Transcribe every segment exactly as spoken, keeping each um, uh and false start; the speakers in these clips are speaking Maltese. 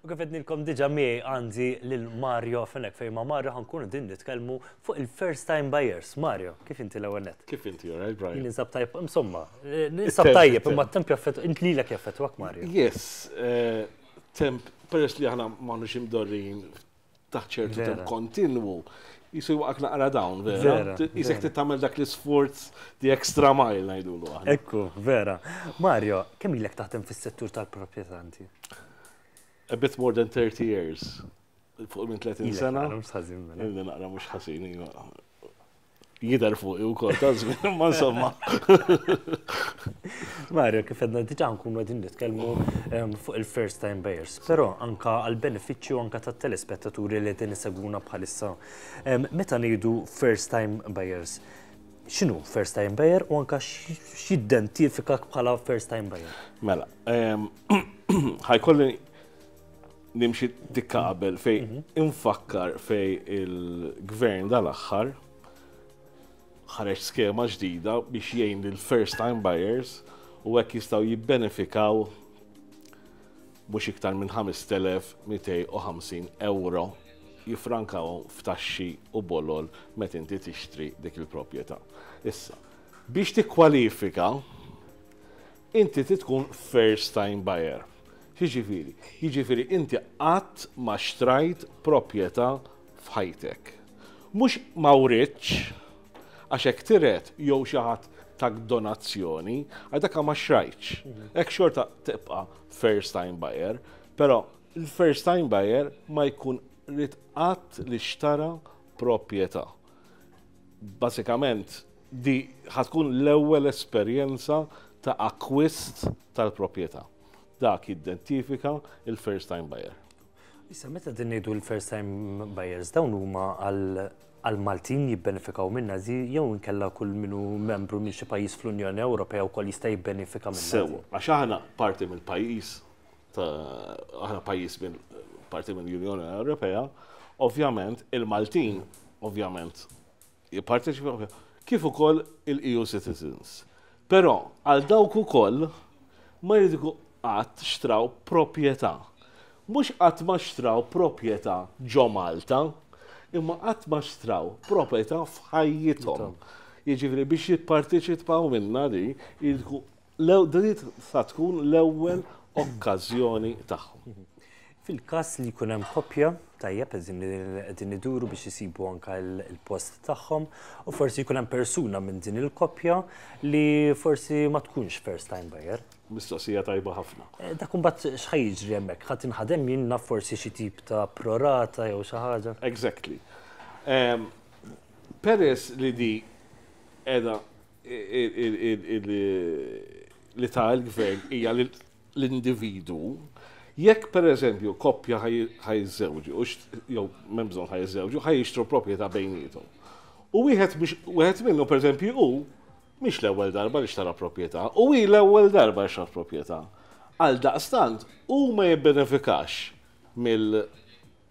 U kif għednilkom diġà, miegħi għandi lil Mario Fenech, fejn ma' Mario ħa nkunu qegħdin nitkellmu fuq il-first time buyers. Mario, kif inti l-ewwel nett? Kif inti, all right, Brian? Ninsab tajjeb, insomma, ninsab tajjeb, imma t-temp jaffettwa, int lilek jaffettwak, Mario? Yes, eh, temp, peress li aħna m'aħniex imdorrijin taħt ċertu temp kontinwu, jisu waqak naqra down, vera? Jisek tagħmel dak l-isforz, the extra mile ngħidulu aħna. Ekku, vera. Mario, kemm ilek taħdem fis-settur tal-proprjetà inti? A bit more than thirty years. Fuq minn tletin sena. Mhux ħażin, mela. Illi naqra mhux ħażin, iva. Jidher fuq ukoll ta' żmien, ma insomma. Mario, kif għedna diġà, nkunu qegħdin nitkellmu em, fuq il-first time buyers, però anka għal benefiċċju anka tat-telespettaturi li qegħdin isegwuna bħalissa. Em, Meta ngħidu first time buyers, x'inhu first time buyer u anka x'jidentifikak bħala first time buyer? Mela, em, ħa jkolli nimxi tikka qabel fej infakkar fej il-gvern dal-aħħar ħareġ skema ġdida biex jgħin lil first time buyers u hekk jistgħu jibbenefikaw mhux iktar minn ħamest elef u mitejn u ħamsin euro jifrankaw f'taxxi u bolol meta inti tixtri dik il-proprjetà. Issa, biex tikkwalifika, inti tkun first time buyer. Jiġifieri, jiġifieri inti qatt ma xtrajt proprjetà f'ħajtek. Mhux ma writx, għax hekk tiret jew xi ħadd tak donazzjoni, għal dak ma xtrajtx. Hekk xorta tibqa' first time buyer, però il-first time buyer ma jkun rid qatt li xtara proprjetà. Basikament, di ħa tkun l-ewwel esperjenza ta' akkwist tal-proprjetà. Dak jidentifika il-first time buyer. Issa, meta qegħdin ngħidu l-first time buyers, dawn huma għal għal Maltin jibbenefikaw minna zi, jew inkella kull minu membru minn xi pajjiż fl-Unjoni Ewropea wkoll jista' jibbenefika minna? Sewa, għax aħna parti mill-pajjiż, ta' aħna pajjiż minn parti mill-Unjoni Ewropea, ovvjament il-Maltin, ovvjament, jipparteċipaw, kif ukoll il-E U citizens. Però għal dawk ukoll ma jridu qatt xtraw proprjetà. Mhux qatt ma xtraw proprjetà ġo Malta, imma qatt ma xtraw proprjetà f'ħajjithom. Jiġifieri biex jipparteċipaw minna di, jridu din sa tkun l-ewwel okkażjoni tagħhom. Fil-każ li jkun hemm koppja, tajjeb, qegħdin qegħdin iduru biex isibu anka il-post tagħhom u forsi jkun hemm persuna minn din il-koppja li forsi ma tkunx first time buyer. Mistoqsija tajba ħafna. Eh, Dak imbagħad x'ħa jiġri hemmhekk? Ħa tinħadem jiena forsi xi tip ta' prorata jew xi ħaġa? Exactly. Um, peress li di edha li ta' il-gvern hija l-individu, jekk per eżempju koppja ħa jiżżewġu, jew m'hemm bżonn ħa jiżżewġu, ħa jixtru proprjetà bejniethom. U wieħed wieħed minnu, per eżempju, hu mhix l-ewwel darba li xtara proprjetà, u hi l-ewwel darba li xtara proprjetà. Għal daqstant, hu ma jibbenefikax mill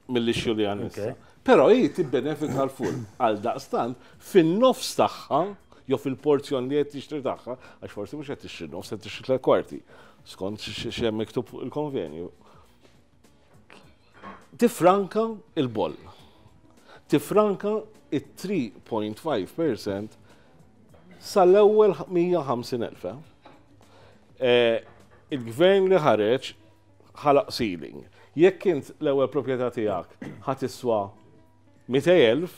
mill-issue li għandna issa. Però hi tibbenefika l-full. Għal daqstant, fin-nofs tagħha, jew fil-porzjon li qed tixtri tagħha, għax forsi mhux qed tixtri nofs, qed tixtri tliet kwarti, skont x'hemm miktub fuq il-konvenju. Tifranka il-boll. Tifranka it-tlieta punt ħamsa fil-mija sal-ewwel mija u ħamsin elf. Eh, il-gvern li ħareġ ħalaq ceiling. Jekk int l-ewwel proprjetà tiegħek ħa tiswa mitejn elf,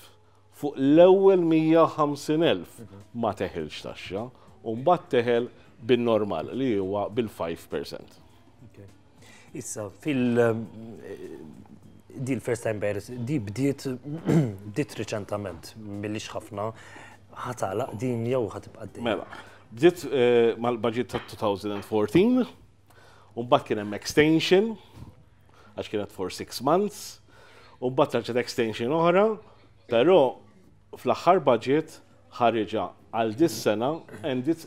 fuq l-ewwel mija u ħamsin elf ma teħilx taxxa u mbagħad teħel bin-normal li huwa bil-ħamsa fil-mija. Issa, fil- Di l-first time buyers, di bdiet bdiet reċentament, m'ilhiex ħafna, ħa tagħlaq din jew ħa tibqa' għaddejja? Mela, bdiet eh, mal-budget ta' elfejn u erbatax, u mbagħad kien hemm extension, għax kienet for six months, u mbagħad reġgħet extension oħra, però fl-aħħar budget ħariġa għal dis-sena and it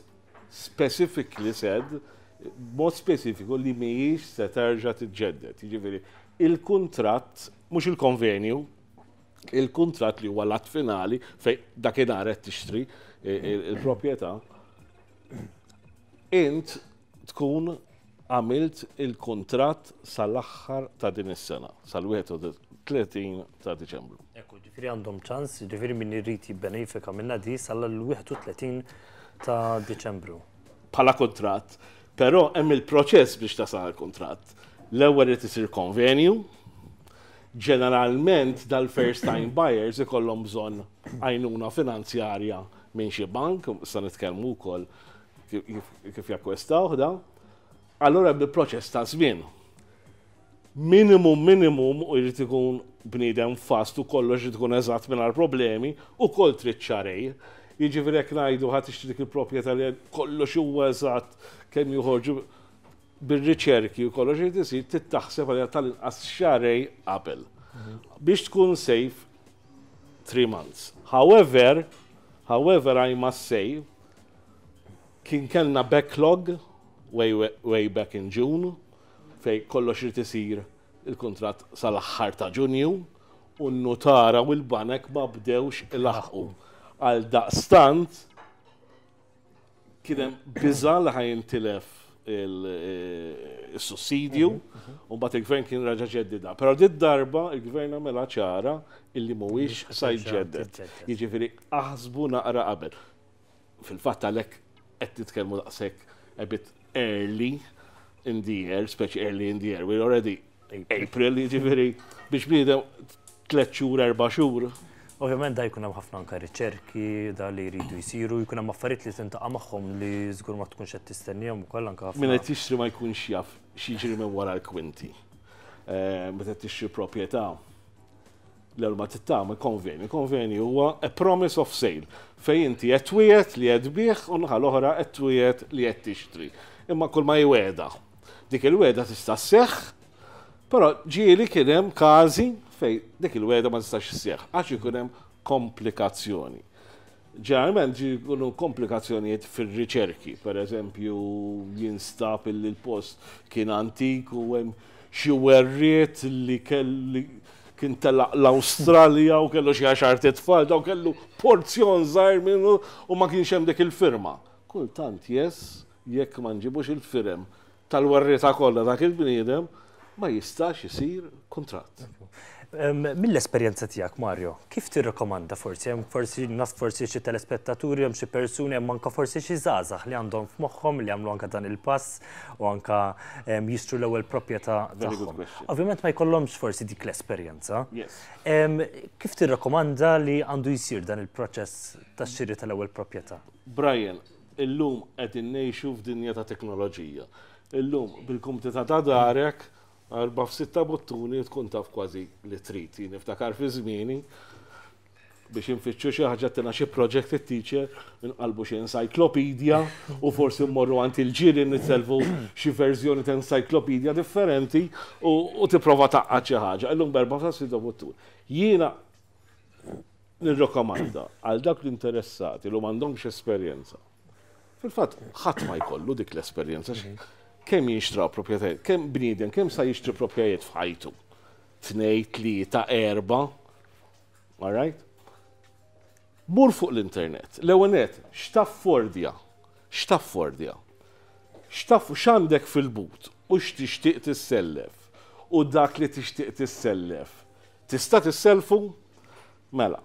specifically said, mod speċifiku, li mhijiex se terġa' tiġġedded. Jiġifieri, il-kuntratt, mhux il-konvenju, il-kuntratt li huwa l-att finali fej dakinhar qed tixtri il-proprjetà, int tkun għamilt il-kuntratt sal-aħħar ta' din is-sena, sal-wieħed u tletin ta' Diċembru. Ekku, ġifieri għandhom ċans, ġifieri min irid jibbenefika minna di sal-wieħed u tletin ta' Diċembru. Bħala kuntratt, però hemm il-proċess biex tasal il-kuntratt. L-ewwel irid isir konvenju, ġeneralment dal-first time buyers ikollhom bżonn għajnuna finanzjarja minn xi bank, issa nitkellmu wkoll kif, kif jakkwistaw da. Allura hemm il-proċess ta' żmien. Minimum, minimum, u jrid ikun bniedem fast u kollox jrid ikun eżatt mingħajr problemi, u kol trid xahrejn. Jiġifieri jekk ngħidu ħa tixtri dik il-proprjetà li kollox huwa eżatt kemm joħorġu bir-riċerki u kollox irid isir, trid taħseb għalija tal-inqas xahrejn qabel. Biex tkun safe, three months. However, however, I must say, kien kellna backlog way, way back in June, fej kollox irid isir il-kuntratt sal-aħħar ta' Ġunju u n-nutara u l-banek ma bdewx ilaħqu. Għal daqstant kien hemm biża li ħa jintilef il-sussidju u mbagħad il-gvern kien raġa ġeddida. Però dit darba il-gvern għamela ċara illi mhuwiex sa jġedded. Jiġifieri aħsbu naqra qabel. Fil-fatt għalhekk qed nitkellmu daqshekk a bit early in the year, speċi early in the year, we're already April, jiġifieri biex bniedem tliet xhur, erba' xhur. Ovvjament da jkun hemm ħafna anke riċerki da li jridu jsiru, jkun hemm affarijiet li tintaqa' magħhom li żgur ma tkunx qed tistennihom ukoll anke ħafna. Min qed tixtri ma jkunx jaf x'jiġri minn wara l-kwinti. Eh, meta tixtri proprjetà, l-ewwel ma tagħmel konvenju. Konvenju huwa a promise of sale fejn inti qed twiegħed li qed tbigħ u naħa l-oħra qed twiegħed li qed tixtri. Imma kull ma jweda. Dik il-weda tista' sseħħ, però ġieli kien hemm każi fej dik il-weda ma tistax isseħħ għax ikun hemm komplikazzjoni. Ġeneralment ġi jkunu komplikazzjonijiet fir-riċerki, per eżempju jinstab illi l-post kien antik u hemm xi werriet li kelli kien telaq l-Awstralja u kellu xi għaxar tfal, daw kellu porzjon żgħir minnu u ma kienx hemm dik il-firma. Kultant yes, jekk ma nġibux il-firem tal-werrieta kollha dak il-bniedem, ma jistax isir kuntratt. Mill-esperjenza tiegħek, Mario, kif tirrekomanda forsi hemm forsi naf forsi xi telespettaturi, hemm xi persuni, hemm anke forsi xi żgħażagħ li għandhom f'moħħhom li jagħmlu anke dan il-pass u anke jixtru l-ewwel proprjetà tagħhom. Ovvjament ma jkollhomx forsi dik l-esperjenza. Kif tirrekomanda li għandu jsir dan il-proċess tax-xiri tal-ewwel proprjetà? Brian, illum qegħdin ngħixu f'dinja ta' teknoloġija. Illum bil-kumdità ta' darek, erba' f'sitta buttuni tkun taf kważi li trid. Jien niftakar fi żmieni biex infittxu xi ħaġa tina xi project it-teacher, nqalbu xi encyclopedia u forsi mmorru għand il-ġirien nitselfu xi verżjoni ta' encyclopedia differenti u tipprova tgħaqqad xi ħaġa. Illum b'erba' ta' sitta buttuni. Jiena nirrakkomanda għal dak l-interessati li m'għandhomx esperjenza. Fil-fatt ħadd ma jkollu dik l-esperjenza. Kemm jinxtraw proprjetajiet, kemm bniedem, kemm sa jixtri proprjetajiet f'ħajtu? Tnej, tlieta, erba'. All right? Mur fuq l-internet. L-ewwel net, x'taffordja? X'taffordja? X'taf x'għandek fil-but u x'tixtieq tissellef? U dak li tixtieq tissellef, tista' tisselfu? Mela.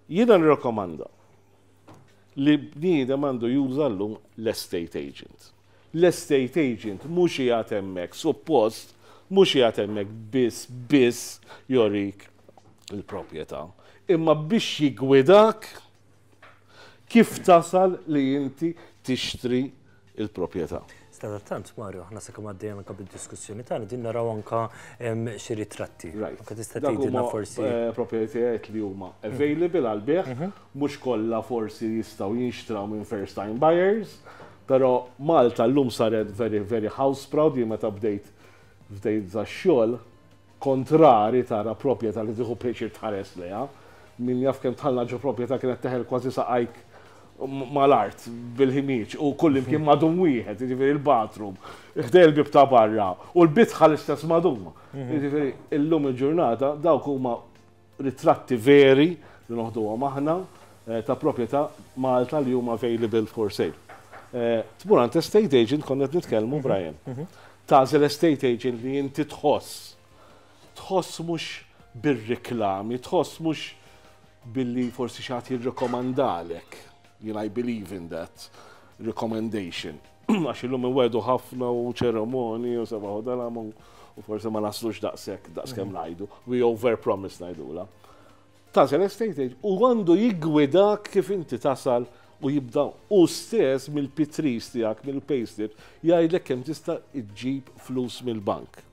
Jiena nirrakkomanda li bniedem għandu juża llum l-estate agent. L-estate agent mhux qiegħed hemmhekk, suppost mhux qiegħed hemmhekk biss biss jorik il-proprjetà, imma biex jigwidak kif tasal li inti tixtri il-proprjetà. Sadattant, Mario, aħna sakemm għaddejjem anka bid-diskussjoni tagħna din naraw anka xi ritratti. Anka tista' tgħidilna forsi. Eh, proprjetajiet li huma available għal bejgħ, mhm. mhux kollha forsi jistgħu jinxtraw minn first time buyers, però Malta llum saret very, very house proud. Jien meta bdejt bdejt dax-xogħol, kontrari tara proprjetà li tieħu pjaċir tħares lejha. Min jaf kemm dħalna ġo proprjetà kienet teħel kważi saqajk mal-art bil-ħmieġ u kull imkien madum wieħed, jiġifieri il-bathroom, ħdejn il-bib ta' barra u l-bitħa l-istess madum. Mhm. Jiġifieri illum il-ġurnata dawk huma ritratti veri li noħduhom aħna eh, ta' proprjetà Malta li huma available for sale. Eh, tmur għand estate agent, konna nitkellmu, mhm. Brian. Mhm. Tagħżel estate agent li inti tħoss. Tħoss mhux bir-reklami, tħoss mhux billi forsi xi ħadd jirrekomandalek. You I believe in that recommendation. Għax illum inwiegħdu ħafna u ċerimoni u sebaħu dalam u forsi ma naslux daqshekk daqskemm mhm. ngħidu. We over promise ngħidula. Tagħżel estate agent u għandu jiggwidak kif inti tasal u jibda u stess mill-P threes tiegħek, mill-payslip, jgħidlek kemm tista' iġġib flus mill-bank.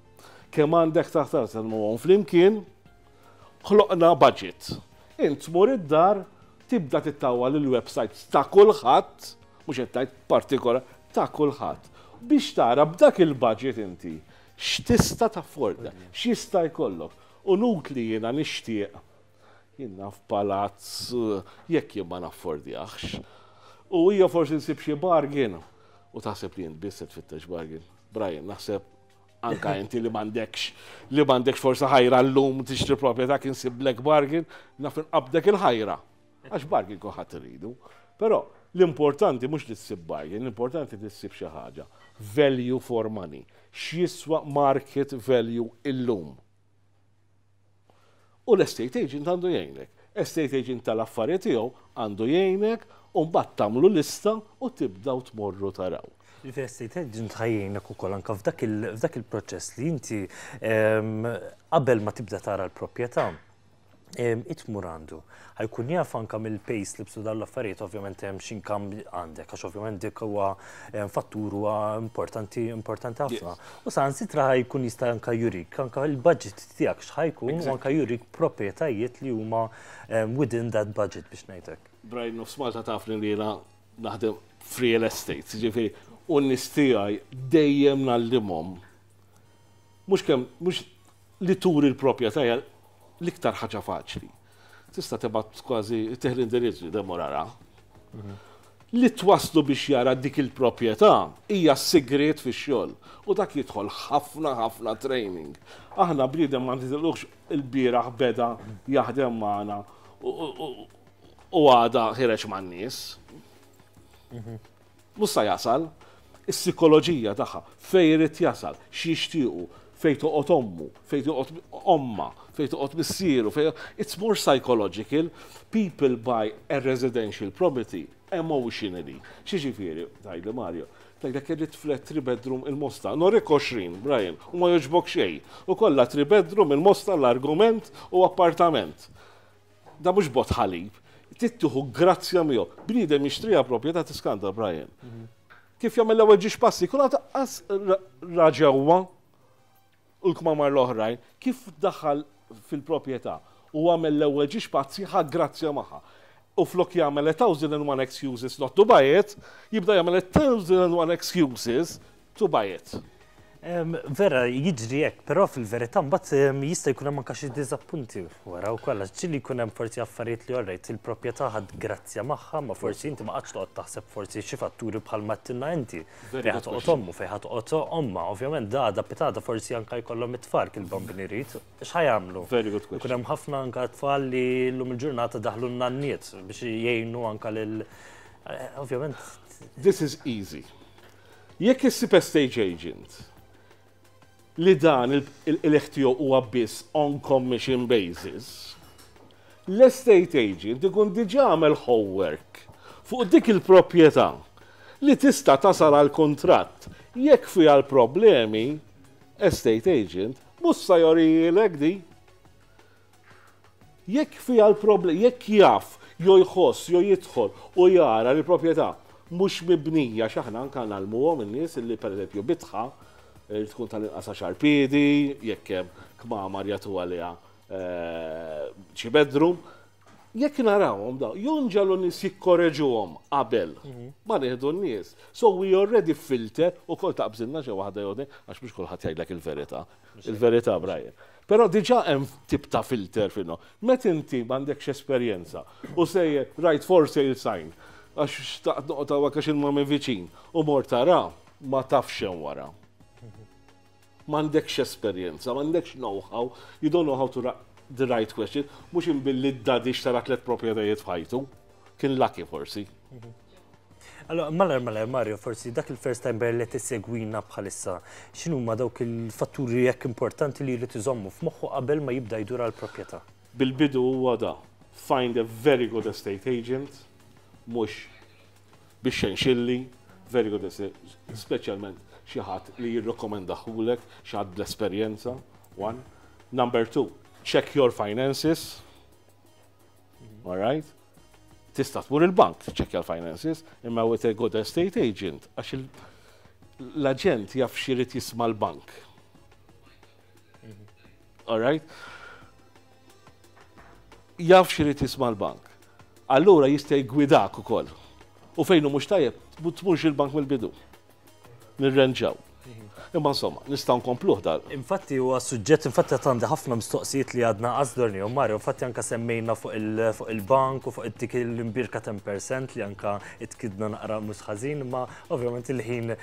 Kemm għandek taħt għon flimkien, ħloqna budget. Int tmur id-dar, tibda tittawwa l-websites ta' kulħadd, mhux qed tgħid partikola, ta' kulħadd. Biex tara b'dak il-budget inti x'tista' tafforda, x'jista' jkollok. U nut li jiena nixtieq jien naf palazz jekk jien ma naffordjax. U hija forsi nsib xi bargain. U taħseb li jien biss tfittex bargain. Brian, naħseb anka inti li m'għandekx li m'għandekx forsi ħajra llum tixtri proprjetà kien siblek bargain, naf inqabdek il-ħajra. Għax bargain kulħadd iridu. Però l-importanti mhux li ssib bargain, l-importanti li ssib xi ħaġa. Value for money. X'jiswa market value illum. U l-estate agent għandu jgħinek. Estate agent tal-affarijiet tiegħu għandu jgħinek u mbagħad tagħmlu lista u tibdaw tmorru taraw. Il-estate agent ħa jgħinek ukoll anka f'dak il-proċess li inti qabel ma tibda tara l-proprjetà tmur għandu. Ħa jkun jaf anka mill-payslips u dawn l-affarijiet, ovvjament hemm x'income għandek, għax ovvjament dik huwa fattur huwa importanti importanti ħafna. U saħansitra ħa jkun jista' anka jurik anka il-budget tiegħek x'ħa jkun u anka jurik proprjetajiet li huma within that budget, biex ngħidlek. Brian, nofs Malta tafni li jiena naħdem real estate, ġifieri, u n-nies tiegħi dejjem ngħallimhom. Mhux kemm, mhux li turi l-proprjetà l-iktar ħaġa faċli. Tista' tibgħat kważi teħli indirizzu demur ara. Li twaslu biex jara dik il-proprjetà hija sigriet fix-xogħol u dak jidħol ħafna ħafna training. Aħna bniedem ma ntitilux il-bieraħ beda jaħdem magħna u għada ħireġ man-nies. Mhux sa jasal, is-psikoloġija tagħha fejn irid jasal, x'jixtiequ, fejn toqgħod ommu, fejn toqgħod omma, fejn toqgħod missieru, fejn it's more psychological. People buy a residential property emotionally. X'jiġifieri, tgħidli Mario, tgħidlek irrid flat three bedroom il-Mosta. Nurik għoxrin, Brian, u ma jogħġbok xejn. U kollha three bedroom il-Mosta, l-argument u appartament. Da mhux bott ħalib. Tieħu grazzja miegħu. Bniedem jixtriha proprjetà tiskanta, Brian. Kif jagħmel l-ewwel żewġ passi, kun qas ra ġewwa u l-kmamar l-oħrajn, kif daħal fil-proprjetà u għamel l-ewwel żewġ passi ħa grazzja magħha. U flok jagħmel a thousand and one excuses not to buy it, jibda jagħmel a thousand and one excuses to buy it. Vera, jiġri hekk, però fil-verità mbagħad jista' jkun hemm anke xi diżappunti wara wkoll, għax ġieli jkun hemm forsi affarijiet li orrejt il-proprjetà ħadt grazzja magħha, ma forsi inti ma qgħadx toqgħod taħseb forsi xi fatturi bħal ma għedtilna inti. Fejn ħa toqgħod ommu, fejn ħa toqgħod omma, ovvjament da pitgħada forsi anke jkollhom it-tfal kil-bambini jrid, x'ħa jagħmlu? Very good question. Ikun hemm ħafna anke tfal li llum il-ġurnata daħlu n-nanniet biex jgħinu anke lil eh, ovvjament. This is easy. Jekk issib estate agent li dan il-ħtiju huwa biss on commission basis, l-estate agent ikun diġà għamel homework fuq dik il-proprjetà li tista' tasal għal kontratt. Jekk fiha l-problemi, estate agent mhux sa jorijilek di. Jekk fiha l-problemi, jekk jaf, jew jħoss, jew jidħol u jara li proprjetà Mhux mibnija, x'aħna anka ngħallmuhom in-nies li, pereżempju, bitħa eh, tkun tal-inqas għaxar piedi, jekk hemm kmamar jagħtu għaliha eh, xi bedroom. Jekk narawhom daw, jonġalu nies jikkoreġuhom qabel ma nieħdu n-nies. So we already filter u kol taqbżilna xi waħda jew għax mhux kulħadd jgħidlek il-verità. Il-verità, Brian. Però diġà hemm tip ta' filter finno. Met inti m'għandekx esperjenza u sejjer right for sale sign għax xtaqt noqgħod għax il minn viċin u mor tara, ma tafx hemm wara. M'għandekx esperjenza, m'għandekx know-how, you don't know how to the right question, mhux imbilli d-daddy xtara tliet proprjetajiet f'ħajtu, kien lucky forsi. Allora, malar malar Mario, forsi dak il-first time buyer li tissegwina bħalissa, x'inhu ma dawk il-fatturi jekk importanti li jrid iżommu f'moħħu qabel ma jibda jdur għal proprjetà? Bil-bidu huwa da, find a very good estate agent, mhux biex xenxilli, very good estate, speċjalment xi ħadd li jirrekomendaħulek, xi ħadd bl-esperjenza, one. Number two, check your finances. All right? Tista' tmur il-bank tiċċekkja l-finances, imma with a good estate agent, għax l-aġent jaf x'irid jisma' l-bank. All right? Jaf x'irid jisma' l-bank. Allura jista' jgwidak ukoll. U fejn hu mhux tajjeb, tmurx il-bank mill-bidu. Nirrenġaw. Imma insomma, nistgħu nkompluh dal. Infatti huwa suġġett, infatti għandi ħafna mistoqsijiet li għadna għazdorni, u Mario, infatti anka semmejna fuq il-bank u fuq dik l-imbirka għaxra fil-mija li anka itkidna naqra mhux ħażin, imma ovvjament il-ħin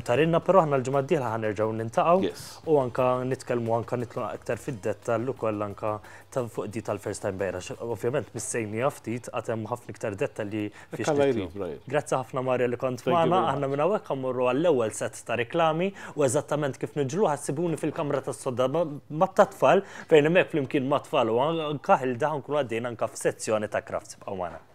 tarinna, però aħna l-ġimgħa d-dieħla ħa nerġgħu niltaqgħu u anka nitkellmu, anka nitlu aktar fid-dettall ukoll anka fuq di tal-first time buyer. Ovvjament missejni ftit, għad hemm ħafna iktar dettalji fiex. Grazzi ħafna, Mario, li kont magħna, aħna minn hawnhekk mmorru għall-ewwel set ta' reklami u eżattament kif niġru ħa ssibuni fil-kamra tas-sodda ma' tat-tfal, fejn hemmhekk flimkien ma' tfal u anka ħilda nkunu għaddejna anka f'sezzjoni ta' crafts. Ibqgħu magħna.